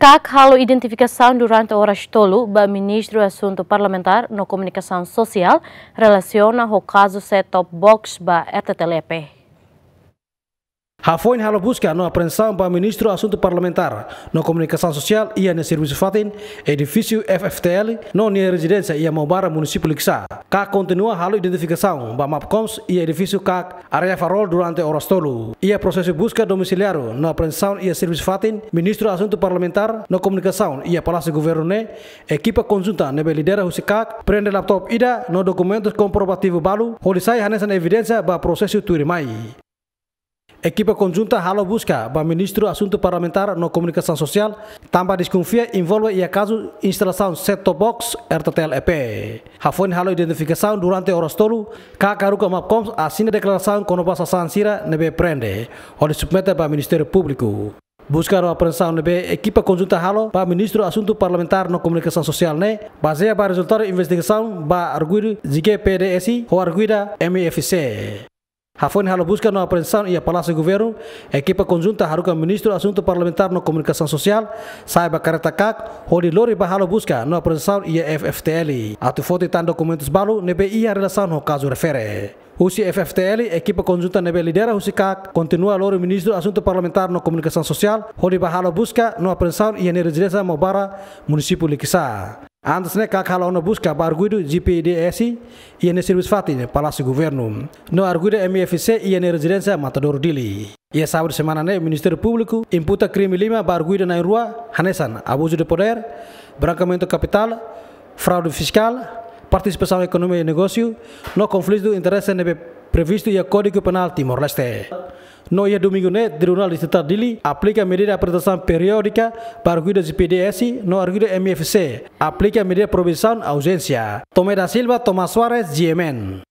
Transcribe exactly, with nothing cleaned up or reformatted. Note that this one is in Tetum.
KAK halo identifikasaun durante oras tolu ba Ministru Asuntu Parlamentár no Komunikasaun Sosiál relasiona ho kazu set-top box ba R T T L E P. Hafoin halo buska no apreensaun ba Ministru Asuntu Parlamentár no Komunikasaun Sosiál iha nia servisu fatin, edifísiu F F T L, no nia rezidénsia iha Maubara, munisípiu Likisá. KAK kontinua halo identifikasaun ba Mapcoms iha edifísiu KAK, área Farol, durante oras tolu. Iha prosesu buska domisiliáriu no apreensaun iha servisu fatin, Ministru Asuntu Parlamentár no Komunikasaun iha Palásiu Governu ne'e, ekipa konjunta ne'ebé lidera husi KAK prende laptop ida no dokumentus komprovativu balu, hodi sai hanesan evidénsia ba prosesu tuirmai. Ekipa konjunta halo buska ba Ministru Asuntu Parlamentár no Komunikasaun Sosiál, tanba deskonfia envolve iha kazu instalasaun set-top box R T T L E P. Hafoin halo identifikasaun durante oras tolu, KAK haruka Mapcoms asina deklarasaun kona-ba sasán sira ne'ebé prende, hodi submete ba Ministériu Públiku. Buska no apreensaun ne'ebé ekipa konjunta halo ba Ministru Asuntu Parlamentár no Komunikasaun Sosiál ne'e bazeia ba rezultadu investigasaun ba arguidu G P D S ho arguida M I F C. Hafoin halo buska no apreensaun iha Palásiu Governu, ekipa konjunta haruka Ministru Asuntu Parlamentár no Komunikasaun Sosiál sai ba karreta KAK, hodi lori ba halo buska no apreensaun iha F F T L, atu foti tan dokumentus balu ne'ebé iha relasaun ho kazu refere. Husi F F T L, ekipa konjunta ne'ebé lidera husi KAK kontinua lori Ministru Asuntu Parlamentár no Komunikasaun Sosiál hodi ba halo buska no apreensaun iha nia rezidénsia Maubara, munisípiu Likisá. Antes ne'e KAK halo ona buska ba arguidu G P D S iha nia servisu fatin, Palásiu Governu, no arguida M I F C iha nia rezidénsia Matadouro, Dili. Iha sábadu semana ne'e, Ministériu Públiku imputa krime lima ba arguida na'in-rua, hanesan abuzu de podér, brankeamentu kapitál, fraude fiskál, partisipasaun ekonomia i negósiu, no konflitu de interese ne'ebé previstu iha Kódigu Penál Timor-Leste. No iha domingu ne'e, Tribunál Distritál Dili aplika medida aprezentasaun periódika ba arguida G P D S no arguida M I F C aplika medida proibisaun auzénsia. Tomé da Silva, Tomás Soares, G M N.